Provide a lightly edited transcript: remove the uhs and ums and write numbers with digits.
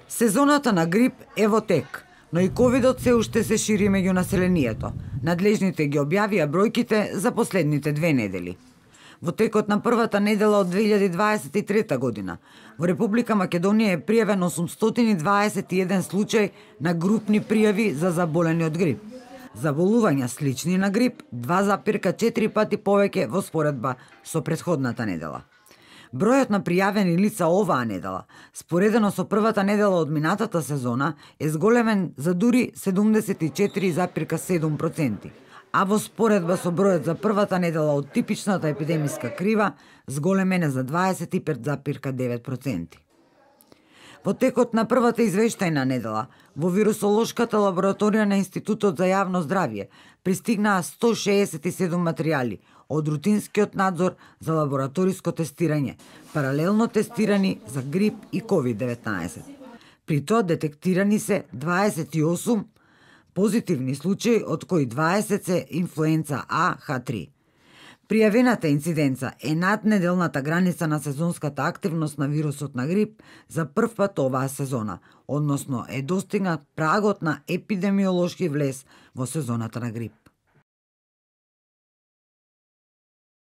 Сезоната на грип е во тек, но и ковидот се уште се шири меѓу населението. Надлежните ги објавија бројките за последните 2 недели. Во текот на првата недела од 2023 година, во Република Македонија е пријавен 821 случај на групни пријави за заболени од грип. Заболувања слични на грип 2,4 пати повеќе во споредба со претходната недела. Бројот на пријавени лица оваа недела, споредено со првата недела од минатата сезона, е зголемен за дури 74,7%, а во споредба со бројот за првата недела од типичната епидемиска крива, зголемен е за 25,9%. Во текот на првата извештајна недела, во вирусолошката лабораторија на Институтот за јавно здравје пристигнаа 167 материјали од рутинскиот надзор за лабораториско тестирање, паралелно тестирани за грип и COVID-19. При тоа детектирани се 28 позитивни случаи, од кои 20 се инфлуенца А H3. Пријавената инциденца е над неделната граница на сезонската активност на вирусот на грип за прв пат оваа сезона, односно е достигнат прагот на епидемиолошки влез во сезоната на грип.